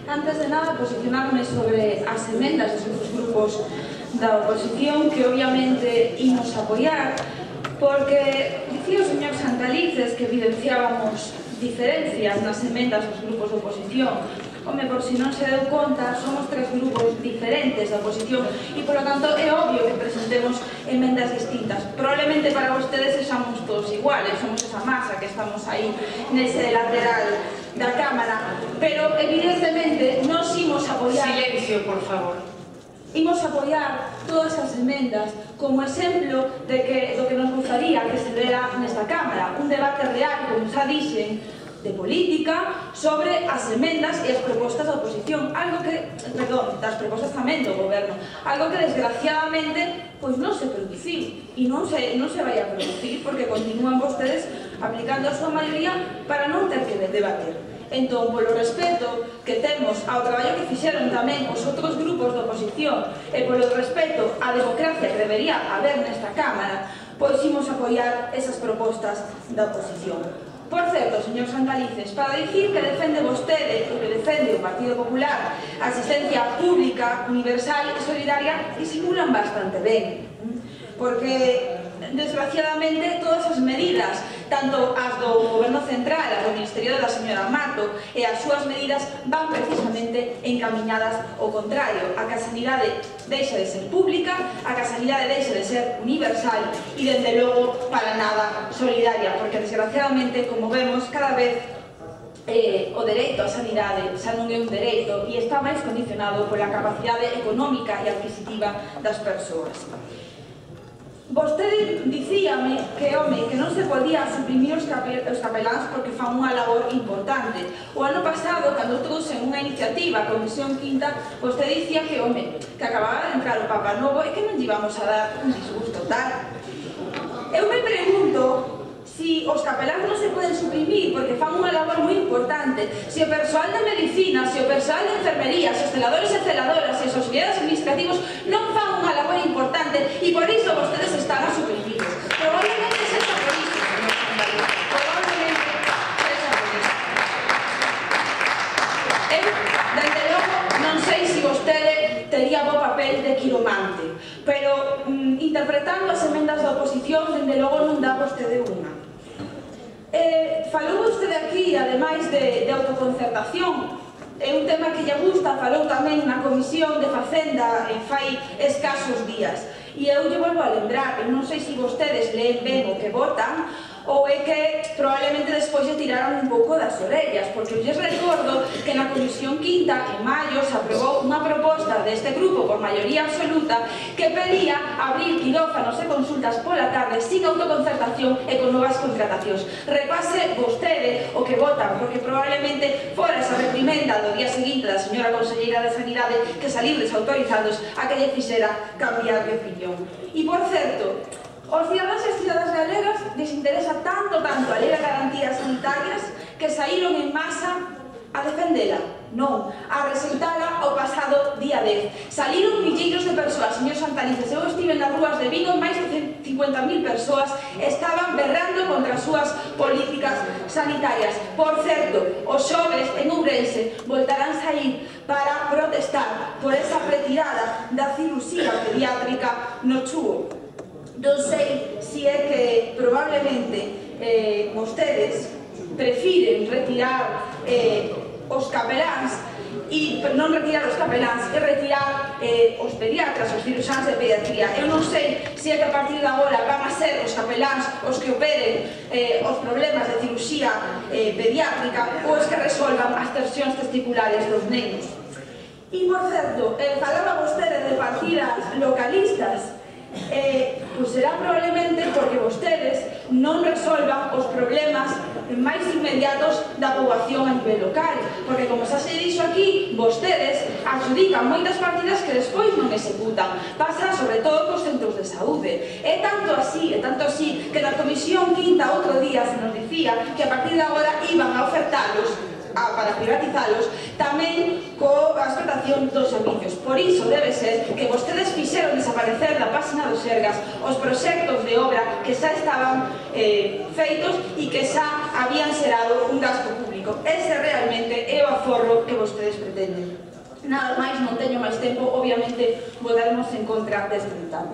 Antes de nada, posicionarme sobre as emendas dos grupos da oposición que obviamente imos apoiar, porque dicía o señor Santalices que evidenciábamos diferencias nas emendas dos grupos da oposición. Home, por si non se deu conta, somos tres grupos diferentes da oposición e, polo tanto, é obvio que presentemos emendas distintas. Probablemente para vostedes sexamos todos iguales, somos esa masa que estamos aí nese lateral da Cámara, pero evidentemente nos imos apoiar... Silencio, por favor. Imos apoiar todas as emendas como exemplo de do que nos gustaría que se dera nesta Cámara, un debate real, como xa dixen, de política sobre as emendas e as propostas da oposición, algo que, perdón, das propostas tamén do goberno, algo que desgraciadamente pois non se produciu e non se vai a producir porque continúan vostedes aplicando a súa maioría para non ter que debater. Entón, polo respeto que temos ao traballo que fixeron tamén os outros grupos da oposición e polo respeto á democracia que debería haber nesta Cámara, pois imos apoiar esas propostas da oposición. Por certo, señor Santalices, para dicir que defende vostede e que defende o Partido Popular a asistencia pública, universal e solidaria, disimulan bastante ben. Porque, desgraciadamente, todas as medidas, tanto as do Goberno Central, as do Ministerio da señora Mato e as súas medidas van precisamente encaminhadas ao contrario, a que a sanidade deixa de ser pública, a que a sanidade deixa de ser universal e, desde logo, para nada solidaria, porque, desgraciadamente, como vemos, cada vez o dereito á sanidade xa non é un dereito e está máis condicionado pola capacidade económica e adquisitiva das persoas. Vostede dicíame que, home, que non se podía suprimir os capeláns porque fan unha labor importante. O ano pasado, cando trouxe unha iniciativa, a Comisión Quinta, vostede dicía que, home, que acababa de entrar o Papa Novo e que non lle íbamos a dar un disgusto tal. Eu me pregunto si os capeláns non se poden suprimir porque fan unha labor moi importante, se o persoal de medicina, se o persoal de enfermería, se os celadores e celadoras, se os auxiliares administrativos non fan unha labor importante e por iso vostedes están a suprimidos. Probablemente sexa por iso, señor Santalices. Probablemente sexa por iso. Eu, dende logo, non sei se vostede tería bo papel de quiromante, pero interpretando as emendas da oposición, dende logo non dá vostede unha. Falou vostede aquí, ademais de autoconcertación, é un tema que lle gusta, falou tamén na Comisión de Facenda fai escasos días. E eu lle volvo a lembrar, non sei se vostedes leen ben o que votan, ou é que probablemente despois lle tiraron un pouco das orellas, porque eu lles recordo que na Comisión Quinta, en maio, se aprobou unha proposta deste grupo por maioría absoluta que pedía abrir quirófanos e consultas pola tarde sin autoconcertación e con novas contratacións. Repase vostede o que votan, porque probablemente fora esa reprimenda do día seguinte da señora conselleira de Sanidade que salir desautorizados a que lle fixera cambiar de opinión. E, por certo, os cidadáns e as cidadas galegas les interesa tanto a lei de garantías sanitarias que saíron en masa a defendela. Non, a rexeitala o pasado día 10. Saliron milleiros de persoas, señor Santalices. Eu estive nas rúas de Vigo, máis de 50.000 persoas estaban berrando contra as súas políticas sanitarias. Por certo, os xoves en Ourense voltarán sair para protestar por esa retirada da cirurxía pediátrica no Chúo. Non sei se é que probablemente vostedes prefiren retirar os capeláns e non retirar os capeláns e retirar os pediatras, os ciruxáns de pediatría. Eu non sei se é que a partir de agora van a ser os capeláns os que operen os problemas de ciruxía pediátrica ou os que resolvan as torsións testiculares dos nenos. E, por certo, falaba vostede de partidas localistas. Pois será probablemente porque vostedes non resolvan os problemas máis inmediatos da poboación a nivel local, porque, como xa se dixo aquí, vostedes adjudican moitas partidas que despois non executan. Pasa sobre todo cos centros de saúde. É tanto así que na Comisión Quinta outro día se nos dicía que a partir de agora iban a ofertalos para privatizalos tamén coa explotación dos servicios. Por iso debe ser que vostedes fixeron desaparecer da página dos Sergas os proxectos de obra que xa estaban feitos e que xa habían xerado un gasto público. técnico. Ese realmente é o aforro que vostedes pretenden. Nada máis, non teño máis tempo, obviamente votaremos en contra deste ditame.